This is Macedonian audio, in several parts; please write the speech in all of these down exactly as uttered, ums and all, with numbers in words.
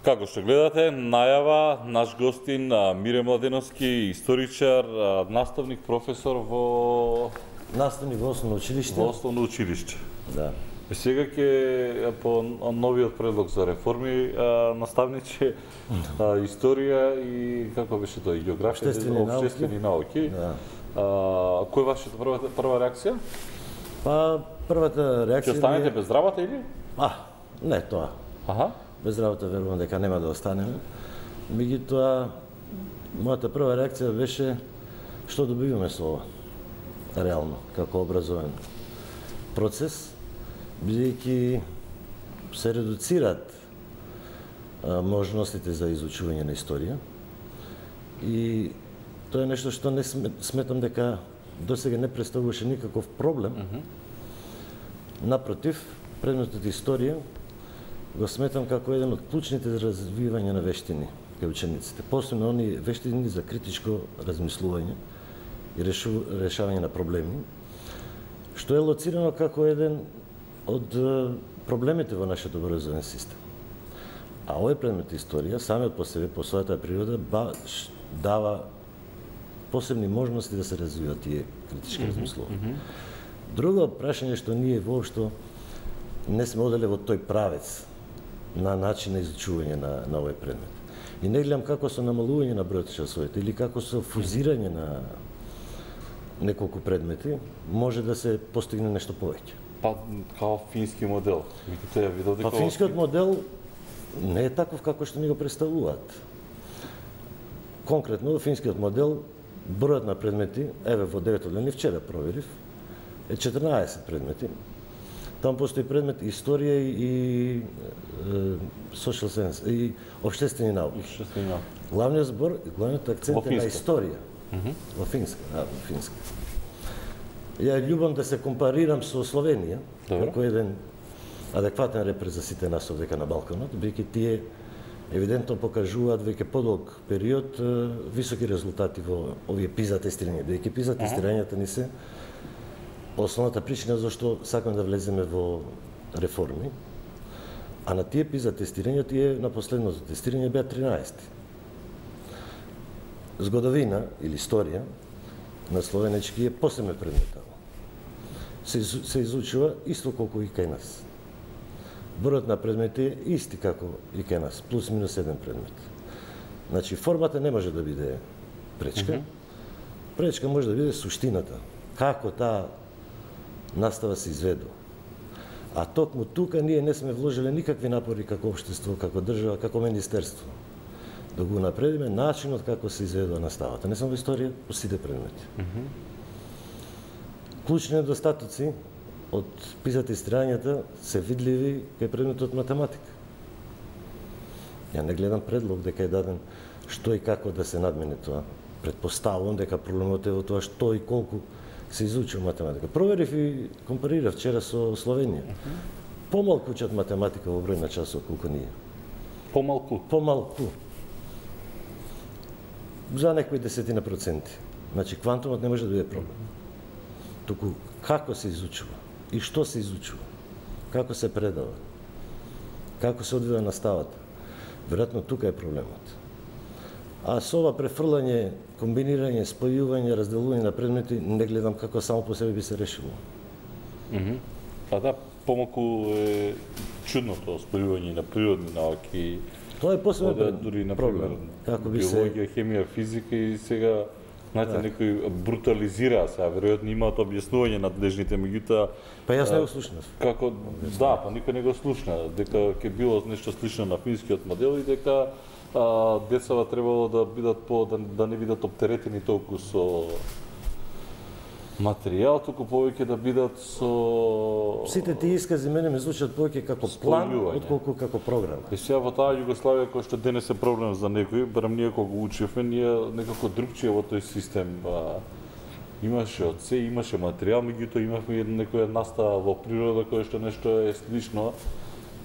Како што гледате, најава, наш гостин Мире Младеновски, историчар, наставник, професор во наставник во основно училиште. Во основно училиште. Да. И сега ќе по новиот предлог за реформи наставниче историја и како беше тоа, географија, Обштествени науки. Обштествени науки. Да. А, кој вашата прва прва реакција? Па првата реакција Ќе останете ми е- без работа или? А, не тоа. Аха. Без работа верувам дека нема да останеме. Меѓутоа, мојата прва реакција беше што добиваме со ова. Реално, како образовен процес, бидејќи се редуцираат а, можностите за изучување на историја и тоа е нешто што не сметам дека досега не представуваше никаков проблем. Mm -hmm. Напротив, предметот историја го сметам како еден од клучните за развивање на вештини кај учениците, посебно оние вештини за критичко размислување и решавање на проблеми, што е лоцирано како еден од проблемите во нашиот образовен систем. А овој предмет историја, самиот по себе, по својата природа, баш дава посебни можности да се развиваат тие критички mm -hmm. размислувања. Друго прашање што ние воопшто не сме оделе во тој правец на начин на изучување на, на овој предмет. И не гледам како со намалување на бројот часовите или како со фузирање на неколку предмети може да се постигне нешто повеќе. Па као фински модел. Тоа видов дека Па финскиот модел не е таков како што ни го представуваат. Конкретно финскиот модел бројот на предмети, еве во девето одделение вчера проверив, е четрнаесет предмети. Таму постои предмет историја и social science и обштествени науки. Обштествени науки. Главниот збор, главниот акцент е на историја. Mm -hmm. Во финска, да, во финска. Ја љубам да се компарирам со Словенија, Добро. како еден адекватен репер за сите нас овдека на Балканот, бидејќи тие евидентно покажуваат веќе подолг период високи резултати во овие пиза тестирања, бидејќи пиза тестирањата ни се основната причина зашто сакаме да влеземе во реформи, а на тие пиза тестирања, тие на последното тестирање беа тринаесет. Згодовина или историја на словенечки е посебен предмет. Се, се изучува исто колку и кај нас. Бројот на предмети е исти како и кај нас, плюс минус еден предмет. Значи, формата не може да биде пречка. Mm -hmm. Пречка може да биде суштината. Како таа настава се изведува. А токму тука ние не сме вложиле никакви напори како општество, како држава, како министерство. Да го напредиме начинот како се изведува наставата. Не само во историја, по сите предмети. Mm -hmm. Клучни недостатоци од пизата истирањата се видливи кај предметот математика. Ја не гледам предлог дека е даден што и како да се надмине тоа. Предпоставувам дека проблемот е во тоа што и колку се изучува математика. Проверив и компарирав вчера со Словенија. Mm -hmm. Помалку учат математика во број на часот колку ние. Помалку? Помалку. За некои десетина проценти. Значи, квантумот не може да биде проблем. Туку, како се изучува и што се изучува, како се предава, како се одвива наставата. Веројатно тука е проблемот. А со ова префрлање, комбинирање, спојување, разделување на предмети, не гледам како само по себе би се решило. Mm -hmm. Па да, помалку е чудно тоа спојување на природни науки. Тоа е посебен дури на проблем. Како би се биологија, хемија, физика и сега знаете, да. Некои брутализираа се, а веројатно имаат објаснување надлежните, меѓутоа па јас не го слушнав. Како да, па никој не го слушна, дека ќе било нешто слично на финскиот модел и дека а, децава требало да бидат по да, да не бидат оптеретени толку со материјал, туку повеќе да бидат со Сите тие искази мене ме звучат повеќе како план отколку како програма. И сега во таа Југославија кој што денес е проблем за некој, барем ние кога го учевме, ние некако другчие во тој систем а, имаше од се, имаше материјал, меѓутоа имавме некоја настава во природа која што нешто е слично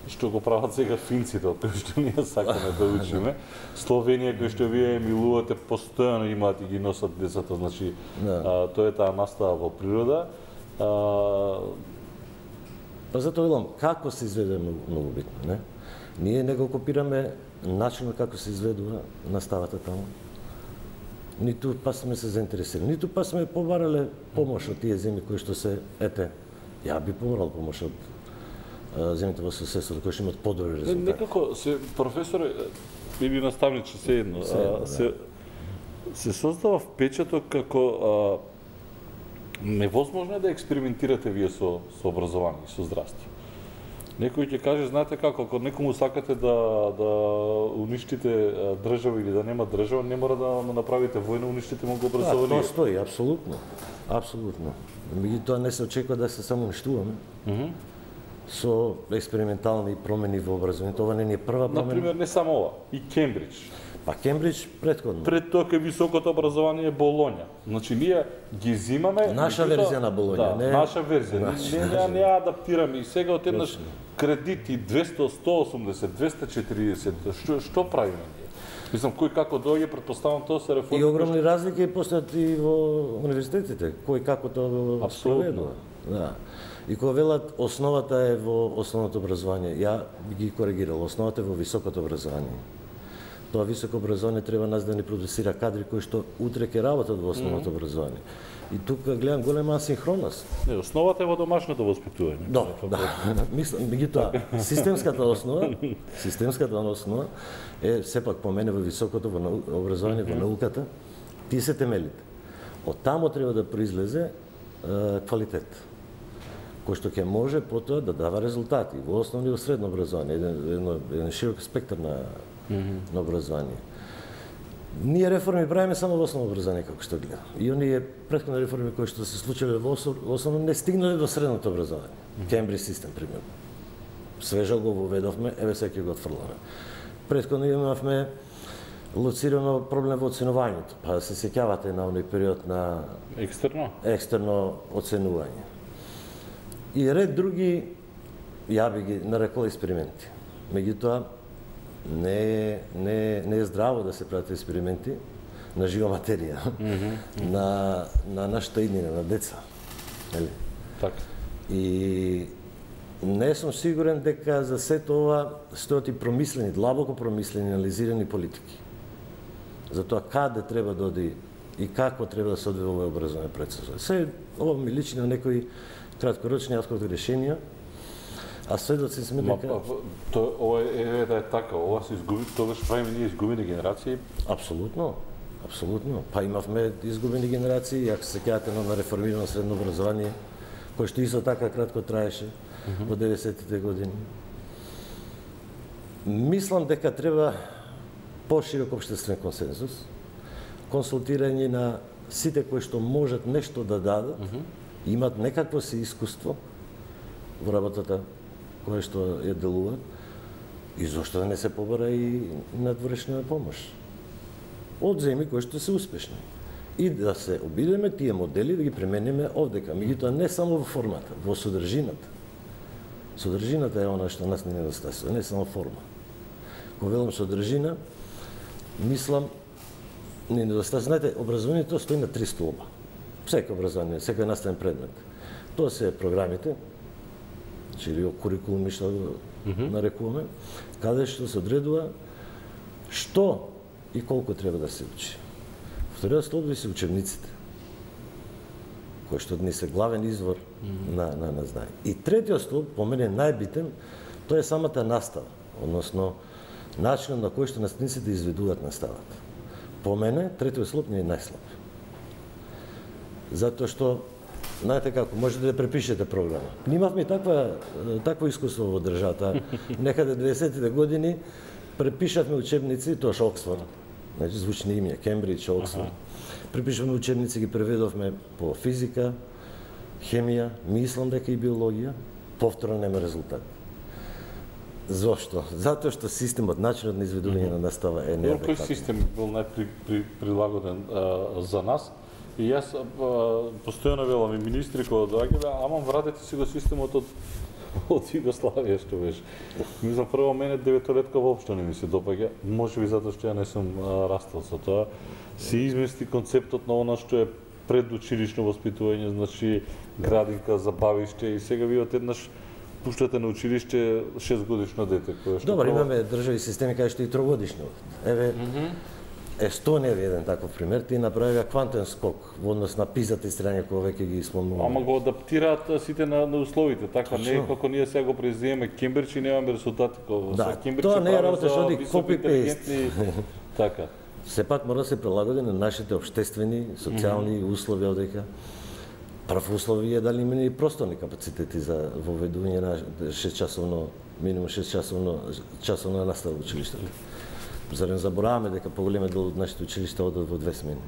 што го прават сега финците, од кој што ние сакаме да учиме. Словенија, кој што вие милувате, постојано имаат и ги носат децата, значи, да. а, тоа е таа настава во природа. А... Па затоа велам, како се изведе многу, многу битно, не? Ние не го копираме начинот како се изведува наставата таму. Ниту па сме се заинтересирани, ниту па сме побарале помош од тие земји кои што се, ете, ја би побарал помош од земјите во соседството кои што имаат подобри резултати. Некако се професоре или наставниче се едно, се, а, се, се создава впечаток како а, невозможно е да експериментирате вие со, со образование и со здравство. Некој ќе каже, знаете како, ако некому сакате да, да уништите држава или да нема држава, не мора да му направите војна, уништите му го образование. Да, тоа стои, апсолутно. Апсолутно. Меѓутоа не се очекува да се само уништуваме. Mm -hmm. Со експериментални промени во образованието. Ова не е прва промена. Например, не само ова, и Кембридж. Па Кембридж претходно. Пред тоа кај високото образование Болоња. Значи ние ги зимаме наша верзија на Болоња, да, не наша верзија. Наша, не, не, не адаптираме и сега отеднаш кредити двесте, сто осумдесет, двесте четиридесет. Што што правиме ние? Мислам кој како доаѓа, претпоставам тоа се реформи. И огромни разлики постојат и во универзитетите, кој како тоа го спроведува. Да. И кога велат основата е во основното образование, ја би ги коригирал, основата е во високото образование. Тоа високо образование треба нас да ни продуцира кадри кои што утре ќе работат во основното mm -hmm. образование. И тука гледам голема асинхронност. Не, основата е во домашното воспитување. Да, да. Мислам, меѓутоа, системската основа, системската основа е сепак по мене во високото во нау... образование, mm -hmm. во науката, тие се темелите. Од тамо треба да произлезе е, квалитет, кој што ќе може потоа да дава резултати во основно и во средно образование, еден, еден, еден широк спектар на Mm -hmm. на образование. Ние реформи правиме само во основно образование, како што гледам. И оние претходни реформи кои што се случиле во основно не стигнале до средното образование. Mm -hmm. Кембридж систем, пример. Свежо го воведовме, еве сега ќе го отфрламе. Претходно имавме лоцирано проблем во оценувањето. Па се сеќавате на оној период на екстерно екстерно оценување. И ред други, ја би ги нарекол експерименти. Меѓутоа, не е, не, не е здраво да се прават експерименти на жива материја, mm -hmm. на, на нашата иднина, на деца. Нели? Така. И не сум сигурен дека за сето ова стојат и промислени, длабоко промислени, анализирани политики. За тоа каде треба да оди и како треба да се одвива овој образовен процес. Се ова ми личи на некои краткорочни открити решенија. А сведоци сме дека тоа ова е да е така, ова се изгуби, тогаш правиме ние изгубени генерации. Апсолутно, апсолутно. Па имавме изгубени генерации, ако се сеќавате на реформирано средно образование, кој што исто така кратко траеше mm -hmm. во деветдесетите години. Мислам дека треба поширок општествен консензус, консултирање на сите кои што можат нешто да дадат, mm -hmm. имат некакво си искуство во работата која што ја делуваат, и зошто да не се побара и надворешна помош од земји кои што се успешни. И да се обидеме тие модели да ги премениме овдека, меѓутоа не само во формата, во содржината. Содржината е она што нас не недостасува, не само форма. Кога велам содржина, мислам не недостасува. Знаете, образованието стои на три столба. Секој образование, секој наставен предмет. Тоа се програмите, или курикулуми што го mm -hmm. нарекуваме, каде што се одредува што и колку треба да се учи. Вториот столб се учебниците, кои што днес е главен извор mm -hmm. на, на, на знаење. И третиот столб, по мене најбитен, тоа е самата настава, односно начинот на кој што наставниците изведуваат наставата. По мене, третиот столб не е најслаб. Затоа што знаете како, можете да препишете програма. Нимавме таква, такво искуство во државата. Некаде деветдесетите години препишавме учебници, тоа што Оксфорд, значи звучни имја, Кембридж, Оксфорд. Препишавме учебници, ги преведовме по физика, хемија, мислам дека и биологија, повторно нема резултат. Зошто? Затоа што системот, начинот на изведување на настава е неадекватен. Кој систем бил најприлагоден за нас? И јас постојано велам и министри кога доаѓале, ама вратете си го системот од од Југославија што беше. Мислам прво мене деветолетка воопшто не ми се допаѓа, можеби затоа што ја не сум растал со тоа. Се измести концептот на она што е предучилишно воспитување, значи градинка, забавиште, и сега ви одеднаш пуштате на училиште шест годишно дете кое што Добро, прво... имаме држави системи кај што и трогодишно. Еве, mm -hmm. Естонија е еден таков пример, ти направија квантен скок во однос на PISA тестирања кои веќе ги спомнуваме. Ама го адаптираат сите на, на условите, така не е како ние сега го преземеме Кембридж и немаме резултати како да, со Кембридж. Тоа не е работа што оди копи-пейст. Така. Сепак мора да се прилагоди на нашите општествени, социјални mm -hmm. услови одека. Прв услов е дали има и просторни капацитети за воведување на шест часовно, минимум шест часовно часовна настава во училиштето. За да не забораваме дека поголемиот дел од нашите училишта одат во две смени.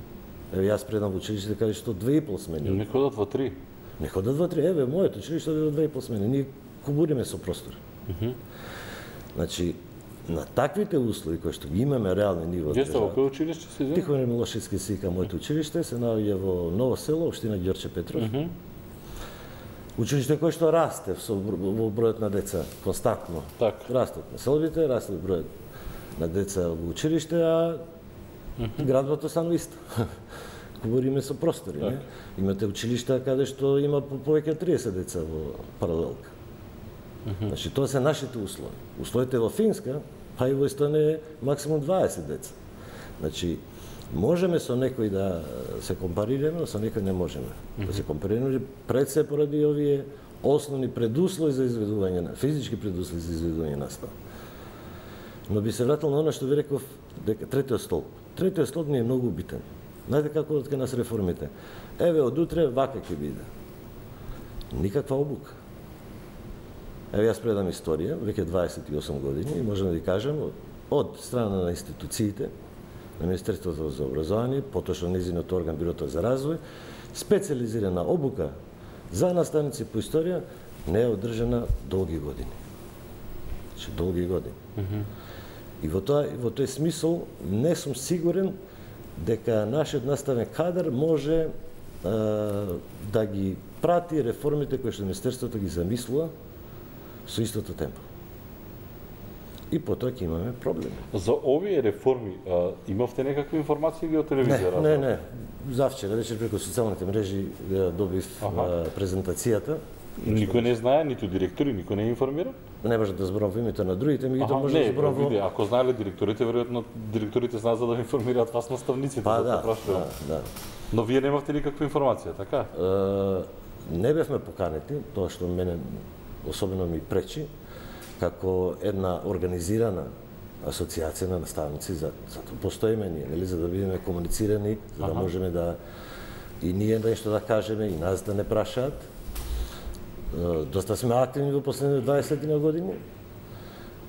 Еве јас предам во училиште каде што две и пол смени. Не ходат во три. Не ходат во три. Еве моето училиште оди во две и пол смени. Ние кубуриме со простор. Mm -hmm. Значи на таквите услови кои што ги имаме реални ниво. Где сте во кој училиште се зема? Тихомир Милошевски се вика моето училиште, се наоѓа во Ново село, општина Ѓорче Петров. Mm -hmm. Училиште кој што расте со во бројот на деца константно. Так. Растат населбите, расте бројот на деца во училиште, а mm -hmm. градбото станува исто. Говориме со простори, так. Не? Имате училишта каде што има по повеќе од триесет деца во паралелка. Mm -hmm. Значи тоа се нашите услови. Условите во Финска, па и во Естонија максимум дваесет деца. Значи можеме со некој да се компарираме, но со некој не можеме. Mm -hmm. Да се компарираме пред се поради овие основни предуслови за изведување на физички предуслови за изведување на настава. Но би се вратил на оно што ви реков дека третиот столб. Третиот столб ни е многу битен. Знаете како од кај нас реформите? Еве од утре вака ќе биде. Никаква обука. Еве јас предам историја, веќе дваесет и осум години и можам да ви кажам од страна на институциите, на Министерството за образование, поточно низиниот орган Бирото за развој, специализирана обука за наставници по историја не е одржана долги години. Значи долги години. Mm -hmm. И во тоа во тој смисол не сум сигурен дека нашиот наставен кадар може а, да ги прати реформите кои што Министерството ги замислува со истото темпо. И потоа ќе имаме проблеми. За овие реформи а, имавте некакви информации ги од телевизија? Не, не, не. Завчера вечер преку социјалните мрежи добив а, презентацијата. Никој не знае, ниту директори, никој не е информиран? Не може да зборам во името на другите, меѓутоа може не, да зборам во... Ако знаеле директорите, веројатно директорите знаат за да информираат вас наставниците. Па да, да, да, да. Но вие немавте никаква информација, така? Е, не бевме поканети, тоа што мене особено ми пречи, како една организирана асоциација на наставници, за, за тоа постоиме ние, нели, за да бидеме комуницирани, за да Аха. можеме да и ние нешто да кажеме, и нас да не прашаат. Доста сме активни во последните дваесет години.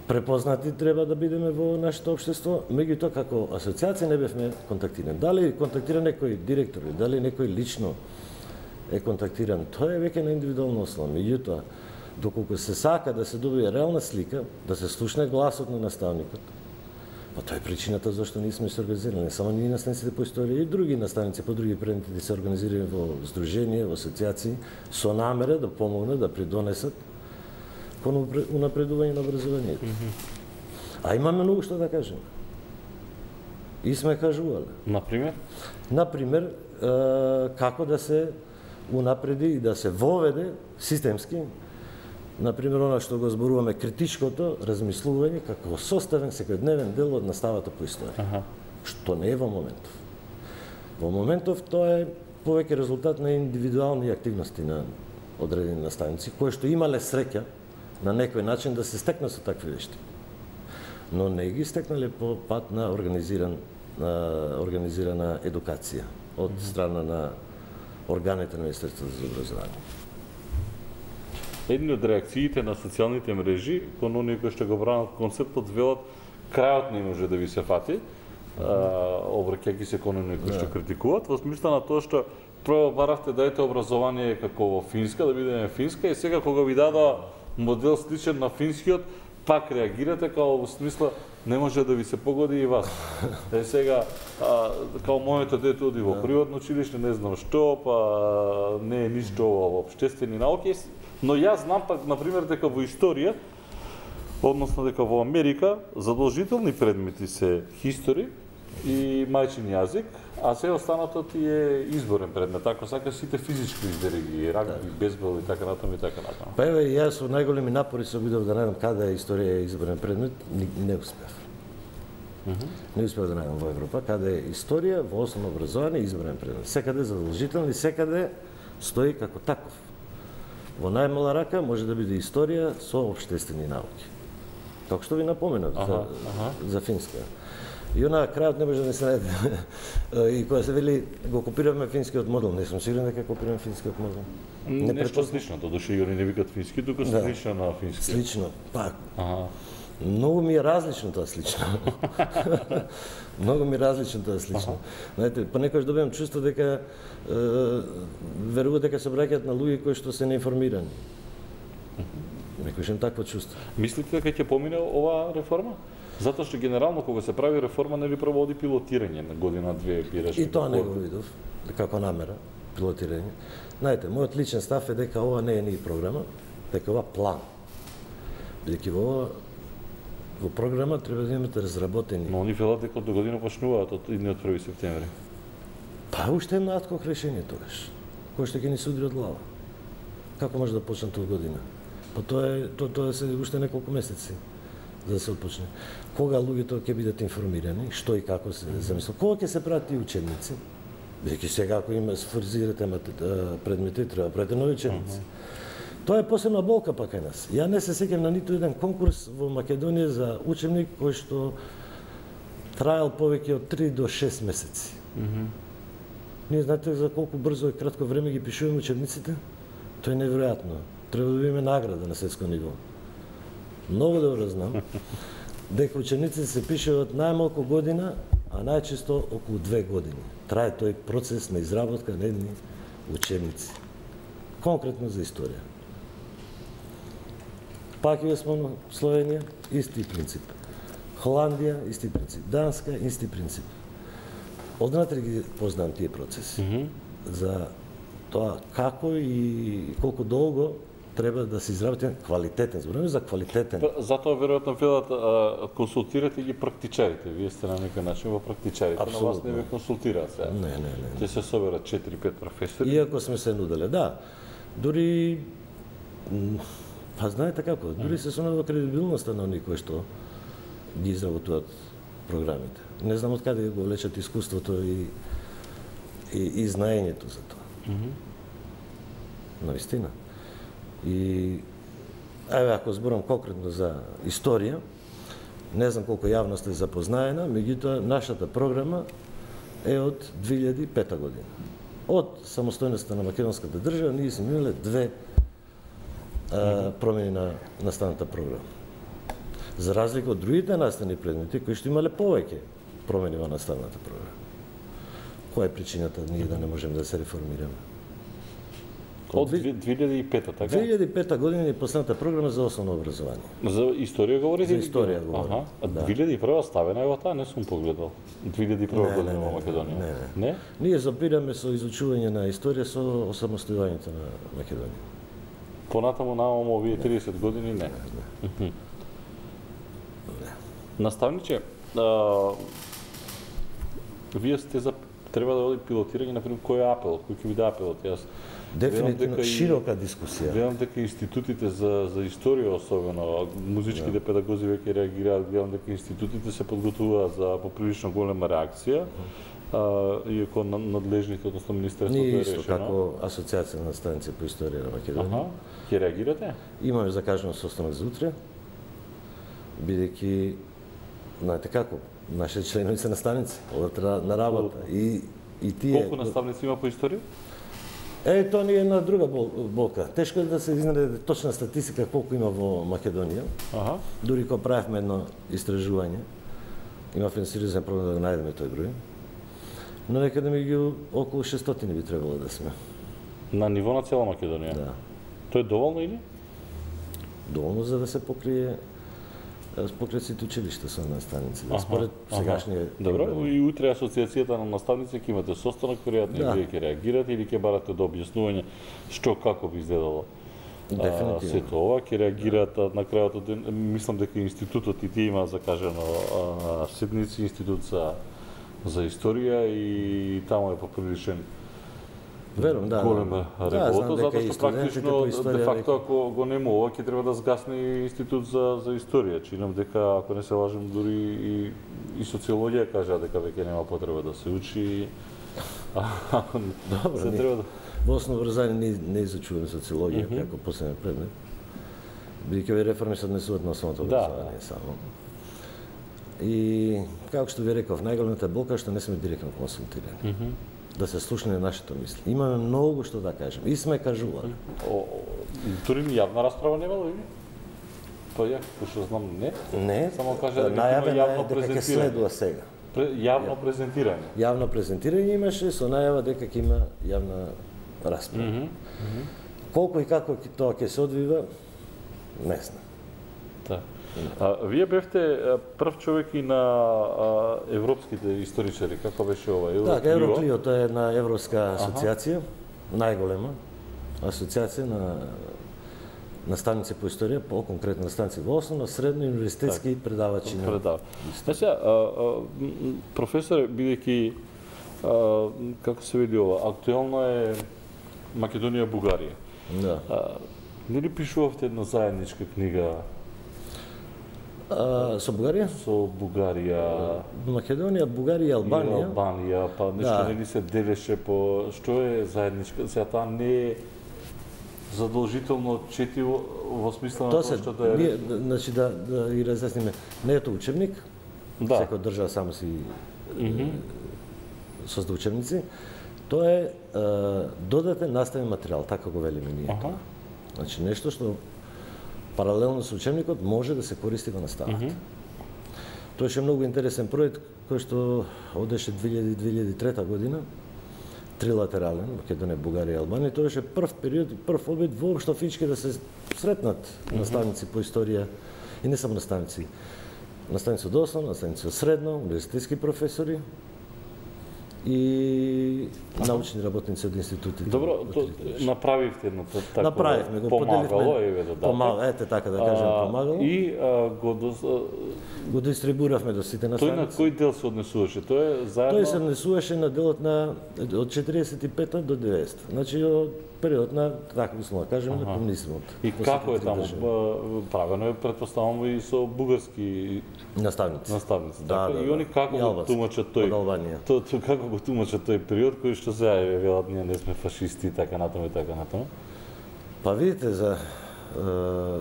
Препознати треба да бидеме во нашето општество, меѓутоа како асоциација не бевме контактирани. Дали контактира некој директор, дали некој лично е контактиран, тоа е веќе на индивидуална основа. Меѓутоа, доколку се сака да се добие реална слика, да се слушне гласот на наставникот, па тоа е причината зашто ние сме се организирани. Не само ние наставниците по историја, и други наставници по други предмети да се организирани во здруженија, во асоциации, со намера да помогнат, да придонесат кон унапредување на образованието. Mm -hmm. А имаме многу што да кажеме. И сме кажувале. Например? Например, како да се унапреди и да се воведе системски, например, она што го зборуваме критичкото размислување како составен секојдневен дел од наставата по историја. Аха. Што не е во моментов. Во моментов тоа е повеќе резултат на индивидуални активности на одредени наставници, кои што имале среќа на некој начин да се стекнат со такви вешти. Но не ги стекнале по пат на организиран на организирана едукација од страна на органите на Министерството за образование. Едни од реакциите на социјалните мрежи кон оние кои што го бранат концептот велат крајот не може да ви се фати, обраќајќи се кон оние кои што критикуваат, во смисла на тоа што прво баравте дајте образование како во Финска, да бидеме Финска, и сега кога ви дадоа модел сличен на финскиот, пак реагирате као во смисла не може да ви се погоди и вас. Е сега а, као моето дете оди во приватно училиште, не знам што, па не е ништо во општествени науки, но јас знам пак на пример дека во историја, односно дека во Америка задолжителни предмети се history, и мајчин јазик, а се останато ти е изборен предмет. Ако сакаш сите физички избери ги, рагби, бейсбол и така натаму и така натаму. Па еве јас со најголеми напори се обидов да најдам каде е историја изборен предмет, не, не успев. Mm -hmm. Не успев да најдам во Европа каде е историја во основно образование изборен предмет. Секаде задолжително и секаде стои како таков. Во најмала рака може да биде историја со општествени науки. Како што ви напоменав ага, за, ага. за финска. И она крајот не може да се најде. И кога се вели го копираме финскиот модел, не сум сигурен дека копираме финскиот модел. Не Нешто слично, додуше и они не викат фински, тука да. слично на фински. Слично, па. Ага. Многу ми е различно тоа слично. Многу ми е различно тоа слично. Знаете, понекогаш добивам чувство дека е, веруваат дека се обраќаат на луѓе кои што се неинформирани. Некојаш имам такво чувство. Мислите дека ќе помине оваа реформа? Затоа што генерално кога се прави реформа нели проводи пилотирање на година две пираш. И тоа не го видов како намера пилотирање. Знаете, мојот личен став е дека ова не е ни програма, дека ова план. Бидејќи во во програма треба да имате разработени. Но они велат дека до година почнуваат од идниот први септември. Па уште едно адхок решение тогаш, кој што ќе ни се удри од глава. Како може да почне тоа година? Па тоа е тоа тоа се уште неколку месеци за да се отпочне. Кога луѓето ќе бидат информирани, што и како се замисла, кога ќе се прават тие учебници? Бидејќи сега ако има сфоризирате предмети, треба правите нови учебници. Uh -huh. Тоа е посебна болка пак кај нас. Ја не се сеќам на ниту еден конкурс во Македонија за учебник кој што траел повеќе од три до шест месеци. Uh -huh. Ние знаете за колку брзо и кратко време ги пишуваме учебниците? Тоа е неверојатно. Треба да добиеме награда на светско ниво. Многу добро знам дека учениците се пишуваат најмалку година, а најчесто околу две години. Трае тој процес на изработка на едни учебници. Конкретно за историја. Пак и смо Словенија, исти принцип. Холандија, исти принцип. Данска, исти принцип. Однатре ги познам тие процеси. Mm -hmm. За тоа како и колку долго треба да се изработи квалитетен, зборуваме за квалитетен. Затоа веројатно велат консултирате ги практичарите. Вие сте на некој начин во практичарите, но вас не ве консултираат сега. Не, не, не. Ќе се соберат четири-пет професори. Иако сме се нуделе, да. Дури па знаете како, дури се сумнува кредибилноста на оние кои што ги изработуваат програмите. Не знам од каде го влечат искуството и и, и знаењето за тоа. Mm -hmm. Навистина. И еве ако зборам конкретно за историја, не знам колку јавност е запознаена, меѓутоа нашата програма е од две илјади и пета година. Од самостојноста на македонската држава ние сме имале две а, промени на наставната програма. За разлика од другите наставни предмети кои што имале повеќе промени во наставната програма. Која е причината ние да не можеме да се реформираме? Од две илјади и пета, така? две илјади и пета година е последната програма за основно образование. За историја говорите? За историја говорам. Аха. А да. две илјади и прва ставена е во таа, не сум погледал. две илјади и прва година во Македонија. Не, не. Не? Ние запираме со изучување на историја со осамостојувањето на Македонија. Понатаму нааму овие тридесет години не. Не. не. Наставниче, а, вие сте за треба да оди пилотирање, например, кој е апел, кој ќе биде апелот? Јас дефинитивно широка дискусија. Гледам дека институтите за за историја особено, музичките да. педагози веќе реагираат, гледам дека институтите се подготвуваат за поприлично голема реакција. А, иако надлежните, односно министерството е решено. Ние исто, како Асоциација на наставници по историја на Македонија. Аха, ќе реагирате? Имаме закажано состанок за утре, бидејќи, знаете како, нашите членови се наставници, одат на работа. И, и тие... Колку наставници има по историја? Е, тоа не е една друга болка. Тешко е да се изнареди точна статистика колку има во Македонија. Аха. Дури кога правевме едно истражување, имавме сериозен проблем да го најдеме тој број. Но некаде ми ги околу шестстотини би требало да сме. На ниво на цела Македонија? Да. Тоа е доволно или? Доволно за да се покрие покрие сите училишта со наставници. Да, според сегашниот. Добро, и утре асоциацијата на наставници ќе имате состанок, веројатно да. Вие ќе реагирате или ќе барате до објаснување што како би изгледало. Дефинитивно. Сето ова ќе реагираат на крајот од ден. Мислам дека институтот и ти има закажано седници, институт за за историја и таму е поприличен Верувам, да. голема да, работа, да, затоа што практично, де факто, ако го нема ова, ќе треба да згасне институт за, за историја. Чинам дека, ако не се лажам, дури и, и социологија кажа дека веќе нема потреба да се учи. Добро, се не, треба да... во основно образование не, не изучуваме социологија mm -hmm. како последен предмет. Бидејќи овие реформи се однесуваат на основното образование да. само. И, како што ви реков, најголемата болка што не сме директно консултирани. Mm -hmm. Да се слушне на нашите мисли. Имаме многу што да кажем. И сме кажували. Дури ни јавна расправа нема ли? Па ја, што знам, не. Не. Само кажа дека најавен има јавно дека ќе презентирање. следува сега. Јавно презентирање. Јавно презентирање имаше со најава дека ќе има јавна расправа. Mm -hmm. Колку и како тоа ќе се одвива, не знам. Да. А, вие бевте прв човек и на а, европските историчари, како беше ова? Евроклио? Да, Евроклио, тоа е една европска асоциација, најголема асоциација на наставници по историја, по-конкретно наставници во основно, средно и универзитетски так, предавачи на предава. Значи, професоре, бидејќи како се види ова, актуелно е Македонија Бугарија. Да. А, нели пишувавте една заедничка книга? А, со Бугарија? Со Бугарија. Македонија, Бугарија, Албанија. И Албанија, па нешто да. Нели се делеше по што е заедничка, сега таа не е задолжително четиво во смисла на тоа што да е. Ние, значи да да и разјасниме, не е тоа учебник. Да. Секоја држава само си mm -hmm. созда учебници. Тоа е, е додатен наставен материјал, така го велиме ние. Ага. Значи нешто што паралелно со учебникот може да се користи во наставата. Mm -hmm. Тоа е многу интересен проект кој што одеше две илјади до две илјади и трета година, трилатерален, Македонија, Бугарија и Албанија. Тоа беше прв период, прв обид воопшто физички да се сретнат mm -hmm. наставници по историја и не само наставници. Наставници од основно, наставници од средно, универзитетски професори и научни работници од институтите. Добро, то, направивте едно така. Направивме го, помагало, еве да помагало, ете така да кажем, помагало. И а, го до, го дистрибуиравме до сите наставници. Тој на кој дел се однесуваше? Тој е заедно. Тој се однесуваше на делот на од четириесет и пета до деветдесета. Значи од период на, така условно да кажеме, на комунизмот. И како е таму? Правено е, претпоставам, и со бугарски наставници. Наставници, да, така. Да, и они како да. го тумачат тој? То, то, како го тумачат тој период кој што сега е велат ние не сме фашисти и така натаму и така натаму? Па видите, за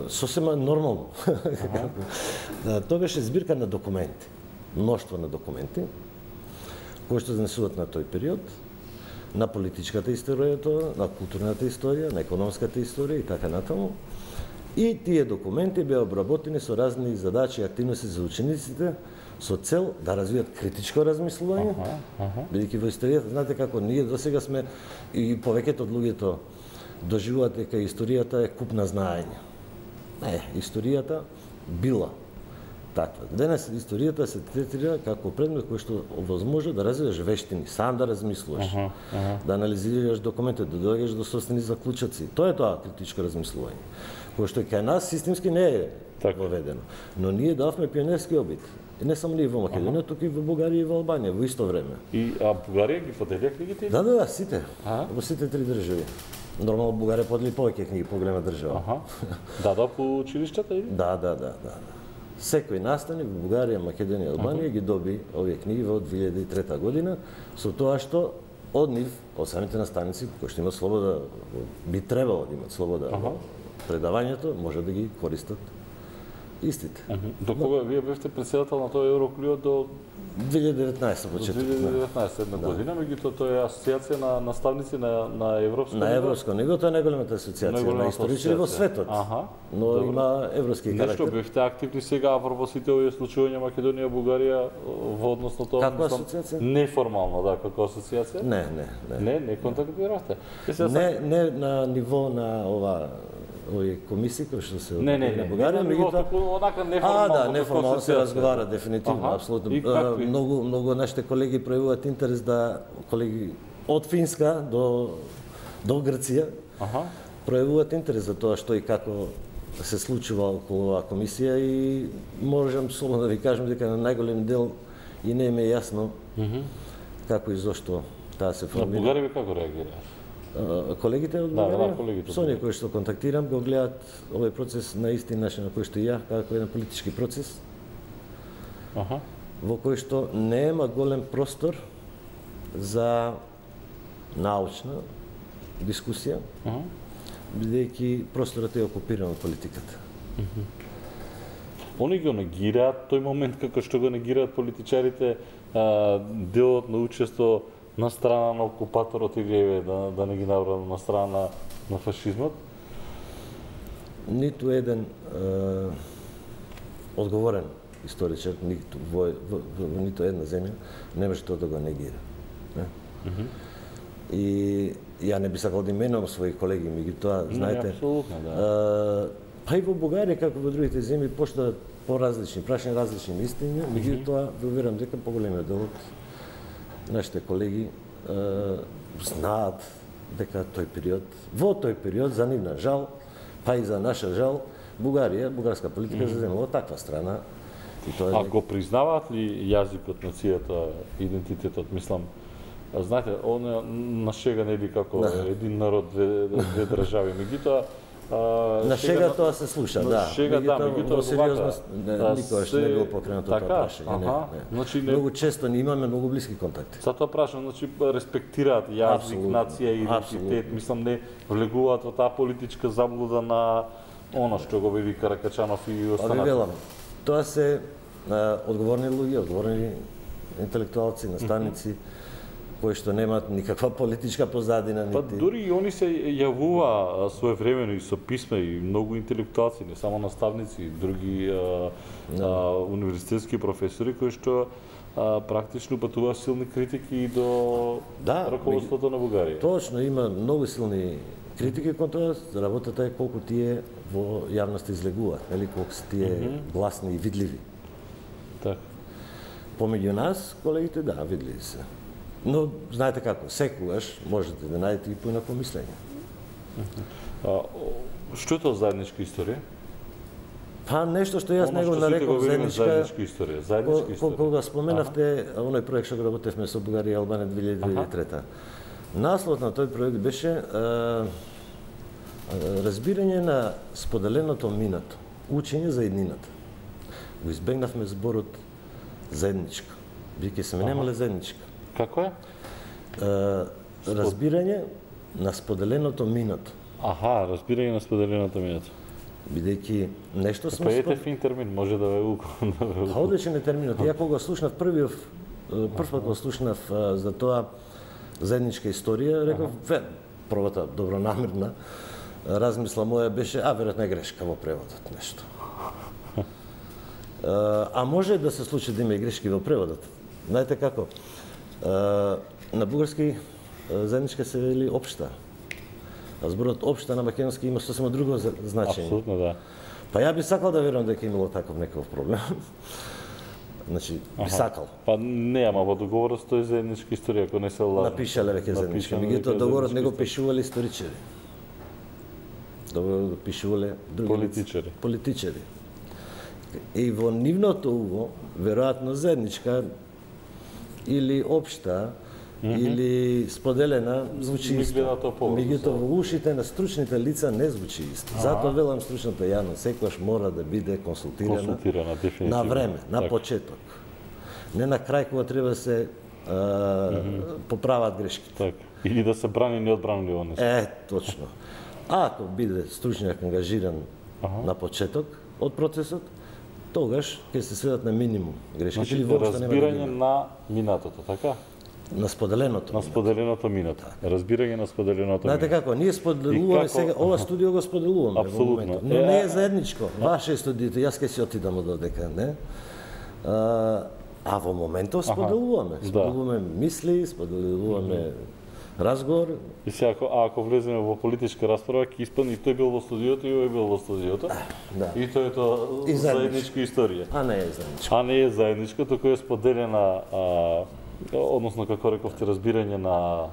сосема нормално. Да, тоа беше збирка на документи, мноштво на документи кои што занесуваат на тој период, на политичката историја, на културната историја, на економската историја и така натаму. И тие документи беа обработени со разни задачи и активности за учениците со цел да развијат критичко размислување, ага, ага. Бидејќи во историјата, знаете како, ние досега сме и повеќето од луѓето доживуваат дека историјата е куп на знаење. Не, историјата била таква. Денес историјата се третира како предмет кој што овозможува да развиеш вештини, сам да размислуваш, ага, ага. Да анализираш документи, да доаѓаш до собствени заклучоци. Тоа е тоа критичко размислување. Кој што кај нас системски не е така воведено. Но ние давме пионерски обид. И не само ние во Македонија, туку и во Бугарија и во Албанија во исто време. И а Бугарија ги поделија книгите? Да, да, да, сите. А? Во сите три држави. Нормално Бугарија подели повеќе книги, поголема држава. Аха. Да, да, по училиштата или? Да, да, да, да. Секој наставник во Бугарија, Македонија и Албанија ги доби овие книги во две илјади и трета година, со тоа што од нив, од самите наставници, кои што имаат слобода, би требало да имаат слобода, ага. Предавањето, може да ги користат истите. До кога вие бевте председател на тоа Евроклио до две илјади и деветнаесета почеток. две илјади и деветнаесета една да. Година, меѓутоа тоа е асоциација на наставници на на европско на европско ниво, тоа е најголемата асоциација на историчари во светот. Аха. Но добро. Има европски карактер. Нешто бевте активни сега апропо сите овие случувања Македонија, Бугарија во однос на тоа. Како асоциација? Неформално, да, како асоциација? Не, не, не. Не, не контактиравте. Не, не на ниво на ова овие комисии кои што се не, не, не, на Бугарија, меѓутоа онака неформално. А, да, неформално се разговара дефинитивно, апсолутно. Многу многу нашите колеги пројавуваат интерес да колеги од Финска до до Грција. Аха. Пројавуваат интерес за тоа што и како се случува околу оваа комисија и можам слободно да ви кажам дека на најголем дел и не ми е јасно како и зошто таа се На формира. бугари како реагираат? А, Колегите од Да, да, Бугарија, колегите од со оние кои што контактирам, го гледаат овој процес на исти начин на кој што и ја, како еден политички процес, Аха. во кој што нема голем простор за научна дискусија, Аха. бидејќи просторот е окупиран од политиката. Они го негираат тој момент како што го негираат политичарите, а, делот на учество на страна на окупаторот или еве да, да не ги набрам на страна на фашизмот. Ниту еден е, одговорен историчар, ниту во, во, во, во ниту една земја не може тоа да го негира. Не? И ја не би сакал да именувам своји колеги, меѓутоа, знаете, апсолутно, да. а, па и во Бугарија, како во другите земји, поштаат по-различни, прашање различни мислења, меѓутоа, ви уверам дека поголемиот дел од нашите колеги а, знаат дека тој период, во тој период, за нивна жал, па и за наша жал, Бугарија, бугарска политика заземала таква страна. И тоа А е го признаваат ли јазикот, нацијата, идентитетот, мислам, а знаете, оно на шега нели како Да. един народ, две, две држави, меѓутоа а, на шега тоа се слуша, на да. шега, да, меѓутоа во сериозност вака, не, а, никогаш се- не било покренато така, тоа прашање. Не, аха, не. значи не- Многу често ни имаме многу блиски контакти. Затоа прашам, значи респектираат јазик, Апсолутно, нација и идентитет, апсолутно. мислам не влегуваат во таа политичка заблуда на она што го вели Каракачанов и Па ви останати. велам, тоа се а, одговорни луѓе, одговорни интелектуалци, наставници, кои што немаат никаква политичка позадина, Па нити... дури и они се јавува а, своевремено и со писма и многу интелектуалци, не само наставници, и други а, а, универзитетски професори кои што а, практично патува силни критики и до Да, раководството на Бугарија. Точно, има многу силни критики кон тоа, работата е колку тие во јавноста излегуваат, нели, колку се тие гласни и видливи. Така. Помеѓу нас, колегите, да, видливи се. Но, знаете како, секогаш можете да најдете и поинако мислење. А, о, што е тоа заедничка историја? Па нешто што јас Оно него што сите нареков го велиме заедничка, заедничка историја, заедничка ко- историја. кога споменавте оној проект што го работевме со Бугарија и Албанија две илјади и трета. Насловот на тој проект беше а, а, разбирање на споделеното минато, учење за еднината. Го избегнавме зборот заедничка, биќе се немале заедничка. Како е? А, разбирање на споделеното минато, Аха, разбирање на споделеното минато. бидејќи нешто сме Па спо- ете фин термин, може да ве уко. Да ве Па уко. одличен е терминот. Ја кога слушнав првиот прв пат го слушнав а, за тоа заедничка историја, реков, ве, првата добронамерна размисла моја беше, а веројатно е грешка во преводот нешто. А, а може да се случи да има и грешки во преводот. Знаете како? А, на бугарски а, заедничка се вели општа. А зборот општа на македонски има сосема друго за- значење. Апсолутно, да. Па ја би сакал да верувам дека имало таков некаков проблем. Значи, би сакал. Па не, ама во договорот стои заедничка историја, ако не се лажам. Напишале веќе заедничка. Напишано Меѓутоа дека договорот не го заедничка пишувале историчари. Договорот го пишувале други лица. Политичари. Политичари. И во нивното уво, веројатно заедничка или општа или споделена звучи Ми исто. гледа тоа поврзано. Меѓутоа во ушите на стручните лица не звучи исто. Затоа велам стручната јавност секогаш мора да биде консултирана, Консултирана, дефинитивно. на време, на Така. почеток. Не на крај кога треба да се а, поправат грешки. Така. Или да се брани неодбранливо нешто. Е, точно. А ако биде стручњак ангажиран на почеток од процесот, тогаш ќе се сведат на минимум грешки. Значи, или воопшто нема да ги разбирање има. на минатото, така? На споделеното. На споделеното минато. Разбирање на споделеното Знаете минато. како, ние И споделуваме како- сега, ова студио го споделуваме во Апсолутно. моментот. Но Е, не а- е заедничко. Ваше е студиото, јас ќе си отидам од одека, не? А, а во моментот споделуваме. да. Споделуваме мисли, споделуваме разговор. И сега, ако, а ако влеземе во политичка расправа, ќе испадне и тој бил во студиото и овој бил во студиото. Да. И тоа е тоа И заедничка историја. А не е заедничко. А не е заедничка, туку е споделена, а, односно, како рековте, разбирање на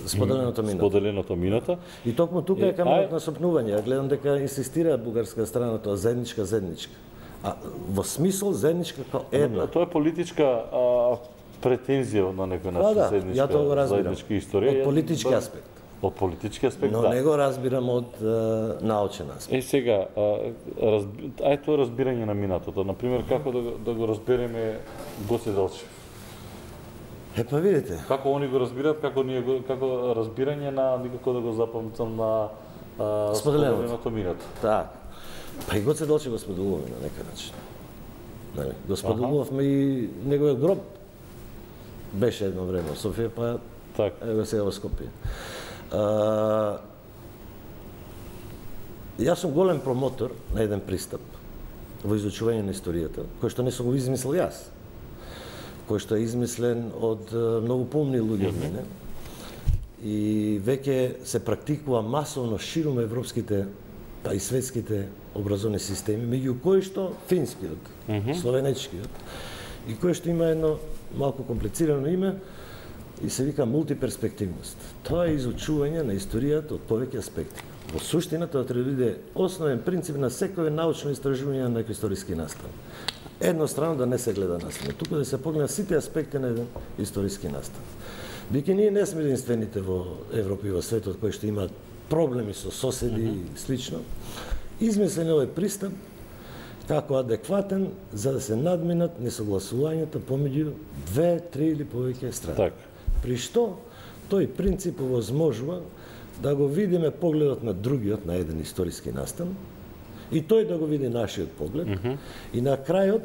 Споделеното минато. споделеното минато. И токму тука И, е каменот ај- на сопнување. Ја гледам дека инсистира бугарска страна тоа заедничка, заедничка. А во смисол заедничка како една. Тоа е политичка а, претензија на некој начин, да, заедничка, ја тоа го разбирам. заедничка историја. Од политички Ја- аспект. Од политички аспект, Но да. не го разбирам од е, научен аспект. Е сега, а, разби... ај тоа разбирање на минатото, на пример како да, го- да го разбереме Гоце Делчев. Е, па видите, Како они го разбираат, како ние го, како разбирање на никако да го запамтам на а, Споделеното. споделеното минато. така. Па и Гоце Делчев го споделуваме на некој начин. Нали, го споделувавме и неговиот гроб. Беше едно време во Софија, па Така. ево сега во Скопје. А, јас сум голем промотор на еден пристап во изучување на историјата, кој што не сум го измислил јас, кој што е измислен од е, многу помни луѓе од мене. И веќе се практикува масовно ширум европските, па и светските образовни системи, меѓу кои што финскиот, словенечкиот, и кој што има едно малку комплицирано име, и се вика мултиперспективност. Тоа е изучување на историјата од повеќе аспекти. Во суштина тоа треба да биде основен принцип на секое научно истражување на некој историски настан. Еднострано да не се гледа настан, туку да се погледнат сите аспекти на еден историски настан. Биќе ние не сме единствените во Европа и во светот кои што имаат проблеми со соседи и слично, измислен е овој пристап како адекватен за да се надминат несогласувањата помеѓу две, три или повеќе страни. Така. При што тој принцип овозможува да го видиме погледот на другиот на еден историски настан и тој да го види нашиот поглед mm -hmm. и на крајот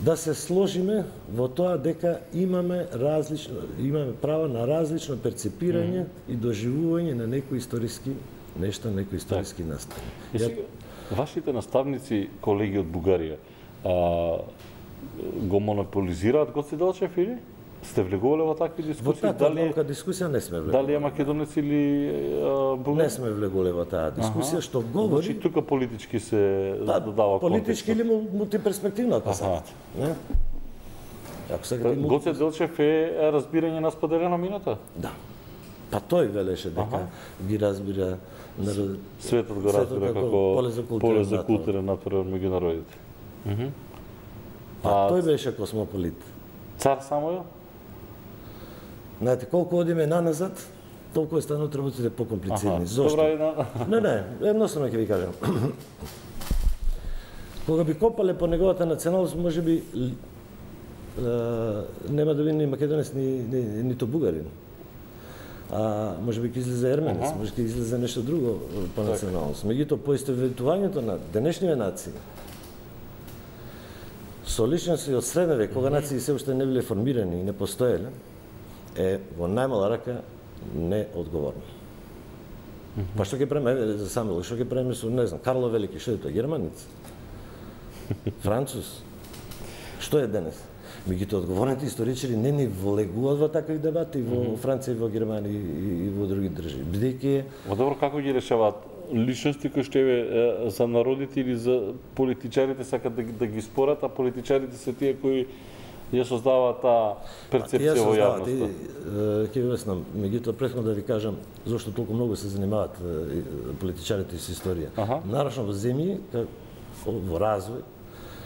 да се сложиме во тоа дека имаме различно имаме право на различно перцепирање mm -hmm. и доживување на некои историски нешта, некои историски так. настани. И сега, вашите наставници, колеги од Бугарија, а, го монополизираат Гоце Делчев или? Сте влегувале во такви Во дискусии? таква Дали, долга дискусија не сме влегувале. дали е македонец или а, бугар? Не сме влегувале во таа дискусија, што Значи, говори тука политички се да, додава политички или контекст. мултиперспективно, ако сакате. Не? Ако сакате мулти... Гоце Делчев е разбирање на споделено минато? Да. Па тој велеше дека Аха. ги разбира народ... Светот го Светот разбира како како поле за културен поле за натпревар. културен натпревар меѓу народите. Мгм. Па А- тој беше космополит. Цар Самуил? Знаете, колку одиме наназад, толку е станат работите покомплицирани. Аха. Зошто? Добра, една... Не, не, едноставно ќе ви кажам. Кога би копале по неговата националност, може би е, нема да биде ни македонец, ни, ни, нито бугарин. А може би ќе излезе ерменец, Аха. може ќе излезе нешто друго по националност. Меѓутоа, поистоветувањето на денешниве нации со личности од среден век, кога нации се уште не биле формирани и не постоеле, е во најмала рака неодговорно. Па што ќе правиме, еве, за Самуил, што ќе правиме со, не знам, Карло Велики, што е тоа, германец? Француз? Што е денес? Меѓутоа, одговорните историчари не ни влегуваат во такви дебати во Франција и во Германија и, и во други држави. Бидејќи Ма добро, како ги решаваат личности кои што еве е, за народите или за политичарите сакат да, ги- да ги спорат, а политичарите се тие кои ја создаваат таа перцепција во јавноста. Ќе ви обяснам, меѓутоа претходно да ви кажам зошто толку многу се занимаваат е, и политичарите со историја. Аха. Нарочно во земји ка- во развој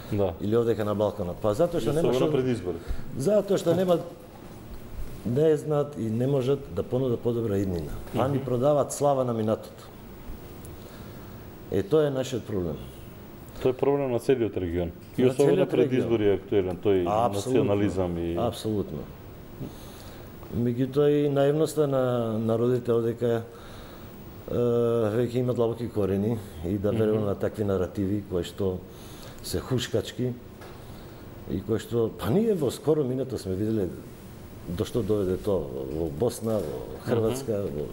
Да. или овдека на Балканот. Па затоа што нема Особено што пред избори. затоа што нема не знаат и не можат да понудат подобра иднина. Па ни продаваат слава на минатото. Е, тоа е нашиот проблем. Тоа е проблем на целиот регион. И На особено целиот пред регион. избори е актуелен тој Апсолутно. национализам и Апсолутно. Меѓутоа и наивноста на народите одека е, веќе има длабоки корени и да верувам на такви наративи кои што се хушкачки и кои што па ние во скоро минато сме виделе до што доведе тоа во Босна, во Хрватска, во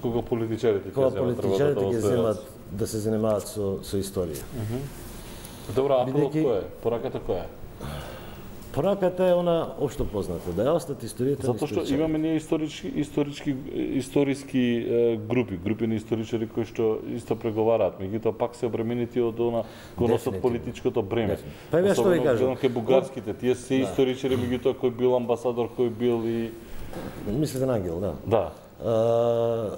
кога политичарите ќе кога земат политичарите работата ќе во свој земат рац. да се занимаваат со со историја. Добро, апелот Бидејќи- кој е? Пораката која е? Пораката е она општо позната, да ја остат историјата на Затоа што историчарите. имаме ние исторички исторички историски е, групи, групи на историчари кои што исто преговараат, меѓутоа пак се обременети од она го носат Дефинитивно. политичкото бреме. Дефинитивно. Па еве што ви Особено кажам. гледам кај бугарските, тие се историчари, меѓутоа кој бил амбасадор, кој бил и Мислите на Ангел, да. да. А,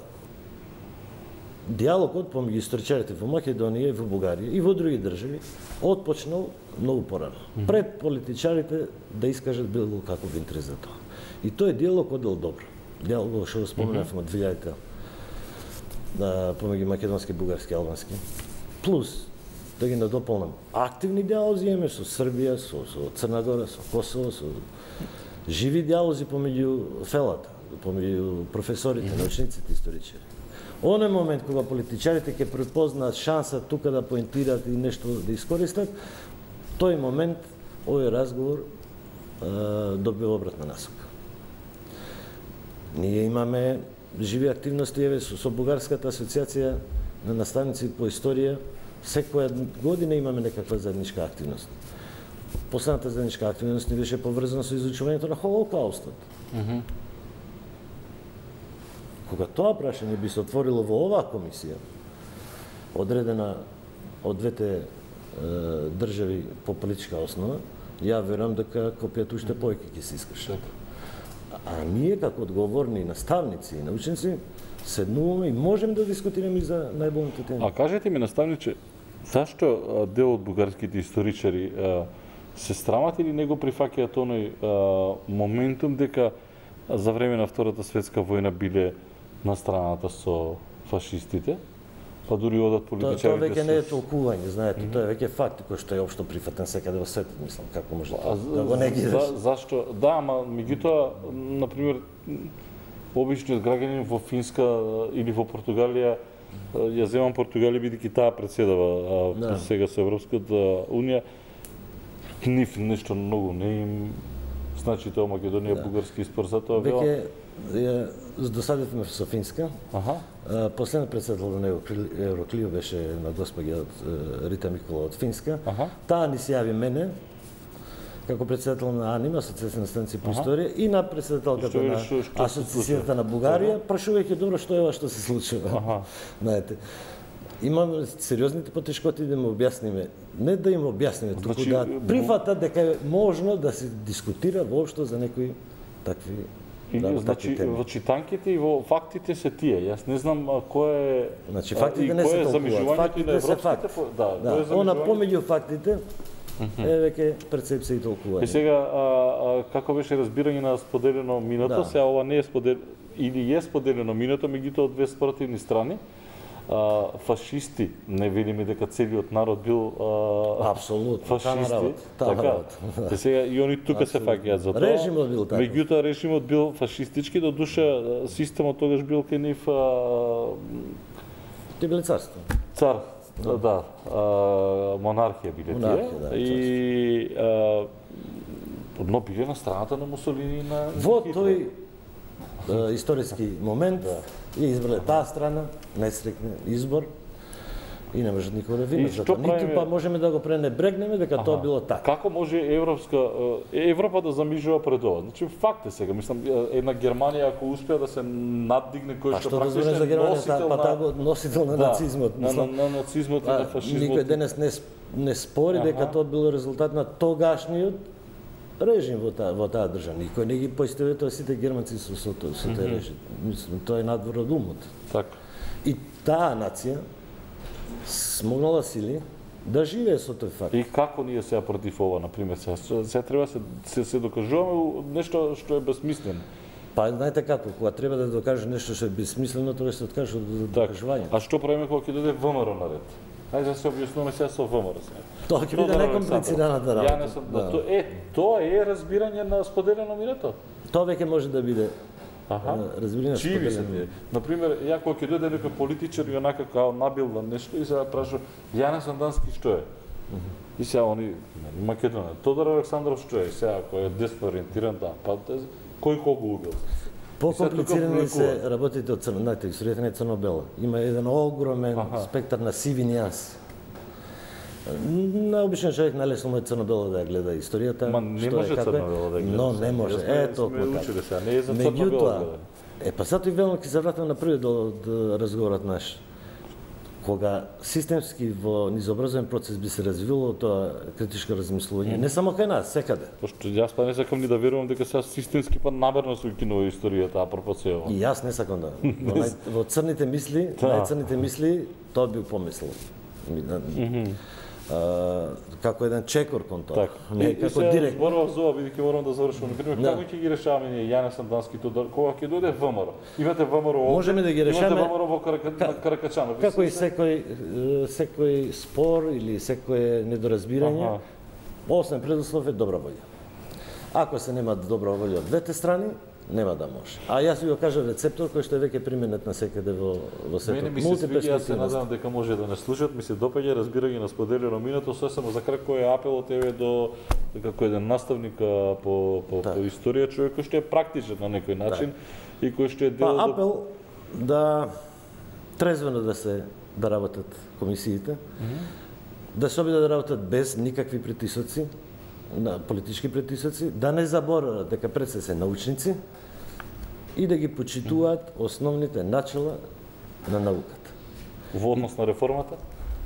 диалогот помеѓу историчарите во Македонија и во Бугарија и во други држави отпочнал многу порано. Пред политичарите да искажат било каков интерес за тоа. И тој диалог одел добро. Диалог што го споменавме од две илјадите да помеѓу македонски, бугарски, албански. Плюс да ги надополнам активни диалози имаме со Србија, со, со Црна Гора, со Косово, со живи диалози помеѓу фелата, помеѓу професорите, научниците, историчари. Оној момент кога политичарите ќе препознаат шанса тука да поентираат и нешто да искористат, тој момент овој разговор е, добива обратна насока. Ние имаме живи активности еве со, со Бугарската асоциација на наставници по историја. Секоја година имаме некаква заедничка активност. Последната заедничка активност ни беше поврзана со изучувањето на Холокаустот. Mm -hmm. Кога тоа прашање би се отворило во оваа комисија, одредена од двете е, држави по политичка основа, ја верувам дека копијата уште повеќе ќе се искаше. А ние како одговорни наставници и научници седнуваме и можеме да дискутираме за најболните теми. А кажете ми, наставниче, зашто дел од бугарските историчари се срамат или не го прифаќаат оној моментум дека за време на Втората светска војна биле на страната со фашистите, па дури одат политичарите. Тоа веќе не е толкување, знаете, mm -hmm. тоа е веќе факт кој што е општо прифатен секаде во светот, мислам, како може тоа да го негираш. За, зашто? Да, ама меѓутоа, на пример, обичниот граѓанин во Финска или во Португалија, ја земам Португалија бидејќи таа председава да. Сега со Европската унија, нив нешто многу не им значи тоа Македонија, да. Бугарски спор за тоа била. Веќе ја досадивме со Финска. Аха. Последниот председател на Евроклио беше на госпоѓа од Рита Микола од Финска. Аха. Таа ни се јави мене како председател на АНИМ, Асоциација на станци по историја, и на председателката на Асоциацијата на Бугарија, прашувајќи добро што е ова што се случува. Знаете, имаме сериозните потешкоти да му објасниме, не да им објасниме, туку значи, да прифатат дека е можно да се дискутира воопшто за некои такви И, да, значи, во читанките и во фактите се тие. Јас не знам кој е... Значи, фактите не се толкуваат. Фактите се факт. Да, да. Она помеѓу фактите е веќе перцепција и толкување. И сега, а, а, како беше разбирање на споделено миното, да. Сега ова не е споделено, или е споделено миното, меѓутоа од две спротивни страни. А, фашисти, не велиме дека целиот народ бил а, апсолутно фашисти, така. Да. Сега и они тука се фаќаат за тоа. Режимот бил така. Меѓутоа режимот бил фашистички, до душа системот тогаш бил кај нив Ти биле царство. Цар, да, да а, монархија биле тие. Да, и а, одно биле на страната на Мусолини и на во тој а, историски момент да. Ја избрале таа страна, несреќен избор и не може никој да вини за тоа. Ниту па можеме да го пренебрегнеме дека тоа било така. Како може Европска Европа да замижува пред ова? Значи факт е сега, мислам една Германија ако успеа да се наддигне кој што практично за Германија, па таа го носител на нацизмот, мислам, на нацизмот и на фашизмот. Никој денес не не спори дека тоа било резултат на тогашниот режим во таа во таа држава. Никој не ги поистоветува сите германци со со тој со тој режим. Мислам, тоа е надвор од умот. Така. И таа нација смогнала сили да живее со тој факт. И како ние сега против ова, на пример, сега, сега треба се се, се докажуваме нешто што е безсмислено. Па знаете како, кога треба да докаже нешто што е безсмислено, тоа се откаже од докажување. А што правиме кога ќе дојде ВМРО на ред? Ајде да се објаснуваме сега со ВМРО сега. Тоа ќе биде некомплицираната работа. Ја не сум, да. То е, тоа е разбирање на споделено миното. Тоа веќе може да биде Аха. разбирање Чиви се тие. На пример, ја кога ќе дојде некој политичар и онака као набилда нешто и сега праша, ја не сум дански што е. Uh -huh. И сега они Македонија, Тодор Александров што е, сега кој е десно ориентиран, да, па кој кого убил. Покомплицирани се работите од црно, знаете, историјата не е црно-бела. Има еден огромен Аха. спектар на сиви нијанси. На обичен човек најлесно му е црно-бело да ја гледа историјата. Ма не може црно-бело да ја гледа. Но не може, е толку така. Не е за црно-бело. Е, па сато и велно ќе се вратам на првиот дел од разговорот наш. кога системски во низообразовен процес би се развило тоа критичко размислување, не само кај нас, секаде. Пошто јас па не сакам ни да верувам дека сега системски па намерно се укинува историјата апропо сева. И јас не сакам да. Во, нај, во црните мисли, најцрните мисли, тоа би помислил. Uh, како еден чекор кон тоа. Не како директор. Зборував за ова, бидејќи морам да завршам. Например, да. Како ќе ги решаваме ние Јане Сандански тоа кога ќе дојде ВМРО? Имате ВМРО овде. Можеме да ги решаме. Имате ВМРО во Каракачанов. Како и секој секој спор или секое недоразбирање, основен предуслов е добра волја. Ако се нема добра волја од двете страни, нема да може. А јас ви го кажав рецептор кој што е веќе применет на секаде во во светот. Мене ми се свиѓа, јас се надевам дека може да не слушат, ми се допаѓа разбирање на споделено минато, се само за крај кој е апелот еве до како еден наставник по по, по историја, човек кој што е практичен на некој начин и кој што е дел па, апел да трезвено да се да работат комисиите, да се обидат да работат без никакви притисоци, на политички притисоци, да не заборават дека пред се се научници и да ги почитуваат основните начала на науката. Во однос на реформата?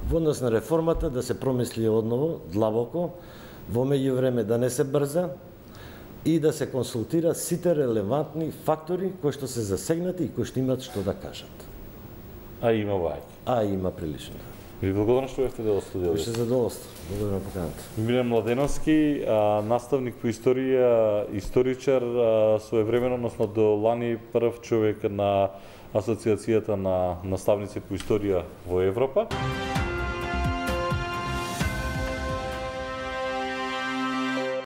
Во однос на реформата да се промисли одново, длабоко, во меѓувреме да не се брза и да се консултира сите релевантни фактори кои што се засегнати и кои што имаат што да кажат. А има вајки. А има прилично. Ви благодарам што бевте дел од студиото. Беше задоволство. Благодарам на поканата. Милен Младеновски, наставник по историја, историчар, своевремено, односно до лани прв човек на Асоциацијата на наставници по историја во Европа.